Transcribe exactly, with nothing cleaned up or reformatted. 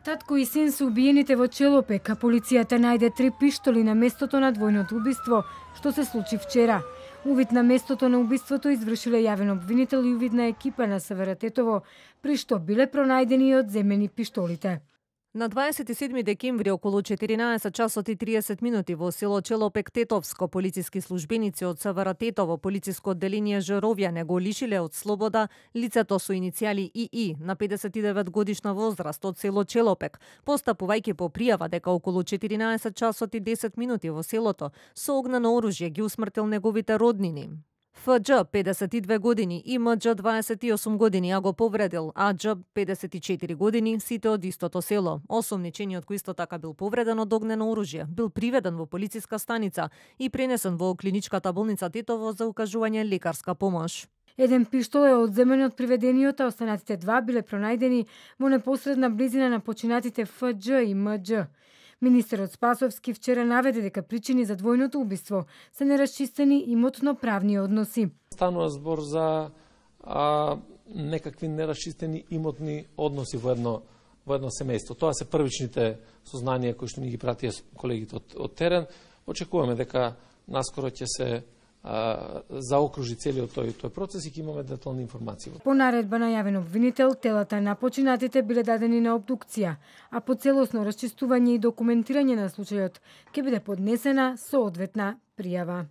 Татко и син се убиените во Челопек, а полицијата најде три пиштоли на местото на двојното убиство, што се случи вчера. Увид на местото на убиството извршиле јавен обвинител и увидна екипа на СВР Тетово, при што биле пронајдени и одземени пиштолите. На дваесет и седми декември околу четиринаесет часот и триесет минути во село Челопек Тетовско полициски службеници од СВР Тетово полициско одделение Жировјане го лишиле од слобода лицето со иницијали ИИ на педесет и девет годишна возраст од село Челопек, постапувајќи по пријава дека околу четиринаесет часот и десет минути во селото со огнено оружје ги усмртил неговите роднини. ФДЖ педесет и две години и МДЖ дваесет и осум години, а го повредил АДЖ педесет и четири години, сите од истото село. Осомничениот кој исто така бил повреден од огнено оружје, бил приведен во полициска станица и пренесен во клиничката болница Тетово за укажување лекарска помош. Еден пиштол е одземен од приведениот, а останатите два биле пронајдени во непосредна близина на починатите ФДЖ и МДЖ. Министерот Спасовски вчера наведе дека причини за двојното убиство се нерасчистени имотно-правни односи. Станува збор за а, некакви нерасчистени имотни односи во едно во едно семејство. Тоа се првичните сознанија кои што ни ги пратија колегите од, од терен. Очекуваме дека наскоро ќе се а, заокружи целиот тој тој процес и ќе имаме детални информации. По наредба на јавен обвинител, телата на починатите биле дадени на обдукција, а по целосно расчистување и документирање на случајот ќе биде поднесена соодветна пријава.